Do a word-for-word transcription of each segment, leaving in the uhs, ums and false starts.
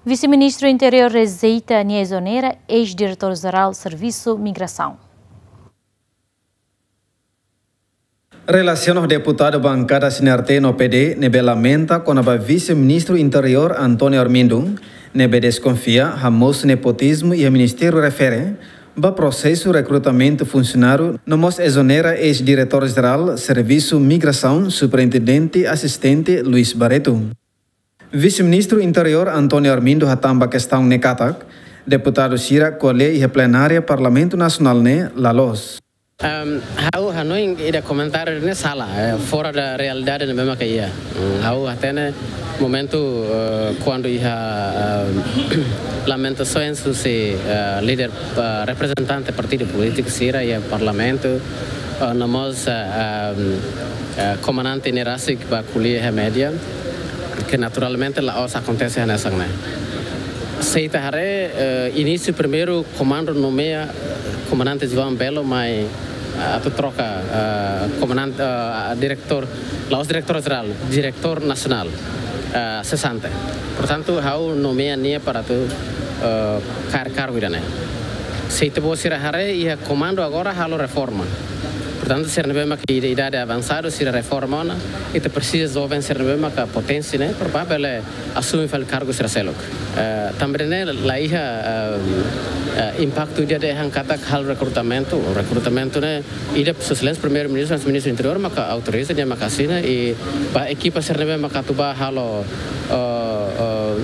Vise-Ministru Interiór rejeita nia ezonera eis-Diretór Jerál Servisu Migrasaun. Relasiona ho deputadu bankada C N R T no P D ne'ebé lamenta kona-ba Vise-Ministru Interiór António Armindo, ne'ebé deskonfia hamosu nepotizmu iha ministériu refere ba prosesu rekrutamentu funsionáriu no mós ezonera eis-Diretór Jerál Servisu Migrasaun, Superintendente Asistente Luis Barreto. Vise-Ministru Interiór António Armindo hatán ba kestaun ne'e katak, deputadu sira ko'alia iha plenária Parlamentu Nasionál ne'e la loos. Ehm, ha'u hanoin ida komentáriu ne'e sala, eh, fora da realidade ne'ebé maka iha. Hmm, ha'u hatene momentu, eh, kuandu iha, eh, lamentasaun husi, eh, líder, eh, reprezentante partidu polítiku sira iha parlamentu, eh, no mós, eh, ehm, eh, komandante ne'e rasik bá ko'alia iha média, ke naturalmente la'ós akontese hanesan ne'e. Se ita haree, eh, inísiu primeiru komandu nomeia, eh, komandante João Belo mai, eh, atu troka, eh, komandante, eh, diretór, la'ós diretór jerál, diretór nasionál, eh, sesante. Portantu, ha'u nomeia nia para atu, eh, kaer kargu ida-ne'e. Se ita-boot sira haree iha komandu agora halo reforma. Portantu, sira ne'ebé maka ida-, idade avansadu, sira reforma ona, ita presiza joven sira ne'ebé maka poténsia ne'e, para bele asume fali kargu sira seluk. Eh, tanba ne'e la iha, eh, eh, impaktu ida dehan katak halo rekrutamentu, rekrutamentu ne'e ida Sua Exelénsia Primeiru-Ministru, Ministru Interiór maka autoriza, nia maka asina, i ba ekipa sira ne'ebé maka atu bá halo, eh, eh,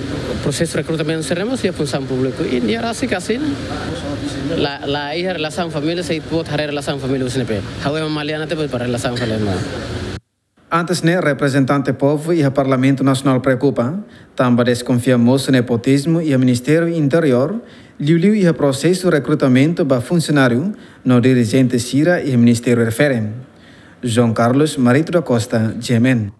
prosesu rekrutamentu sira ne'e mós iha Funsaun Públiku, i nia rasik asina. La, la iha relasaun família, se ita-boot haree relasaun família husi ne'ebé. Ha'u ema Maliana ita-boot para relasaun família. Antes ne'e, reprezentante povu iha Parlamentu Nasionál preokupa, tanba deskonfia mosu nepotizmu iha Ministériu Interiór, liuliu iha prosesu rekrutamentu ba funsionáriu no dirijente sira iha ministériu refere. João Carlos Marito da Costa, G M N.